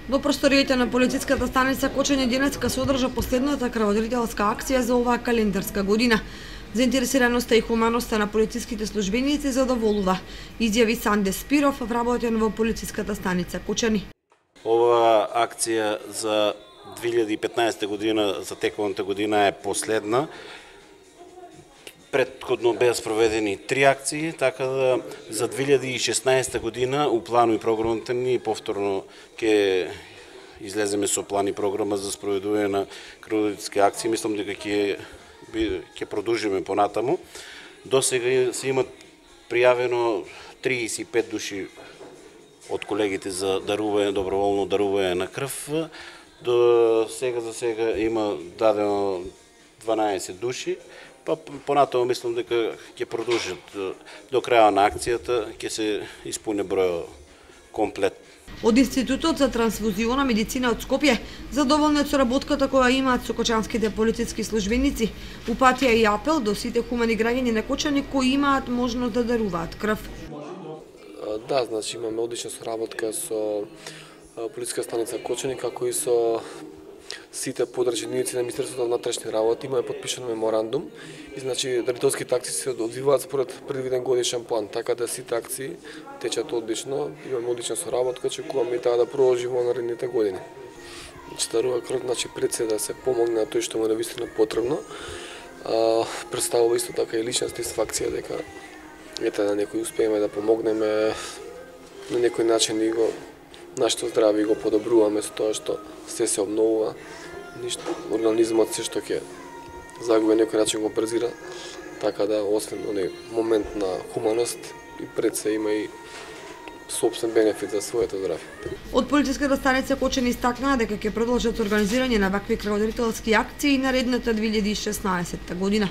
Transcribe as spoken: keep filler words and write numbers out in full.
Во просториите на полициската станица Кочани денеска се одржа последната крводарителска акција за оваа календарска година. Заинтересираноста и хуманоста на полициските службеници задоволува, изјави Санде Спиров, вработен во полициската станица Кочани. Ова акција за две илјади и петнаесета година, за тековната година, е последна. Предходно беа спроведени три акции, така да за две илјади и шеснаесета година у плану и програмата ни повторно ќе излеземе со план и програма за спроведување на крводарителски акции. Мислам дека ќе ќе продолжиме понатаму. До сега се имат пријавено триесет и пет души од колегите за дарување, доброволно дарување на крв. До сега за сега има дадено дванаесет души. Па понатаму мислам дека ќе продолжат до крајот на акцијата, ќе се испуни бројот комплет. Од Институтот за трансфузиона медицина од Скопје задоволни со работката која имаат со кочанските полициски службеници, упатија и апел до сите хумани граѓани на Кочани кои имаат можност да даруваат крв. Да, значи имаме одлична соработка со полициска станица Кочани, како и со сите подрачни единици на Министерството на внатрешни работи. Имаме подпишан меморандум и значи дарителските акции се одвиваат според предвиден годишен план, така да сите акции течат одлично. Имаме одлична соработка, очекуваме и таа да продолжи во наредните години. Значи дарува крв, значи пред се да се помогне на тој што му е навистина потребно. А, представува исто така и лична сатисфакција дека ете на некој успееме да помогнеме на некој начин и го нашето здравје го подобруваме со тоа што се се обновува. Ништо, организмот се што ќе загуби некој начин го презира, така да освен оној момент на хуманост и пред се има и собствен бенефит за своето здравје. Од полициската станица Кочани истакнаа дека ќе продолжат организирање на вакви крводарителски акции наредната две илјади и шеснаесета година.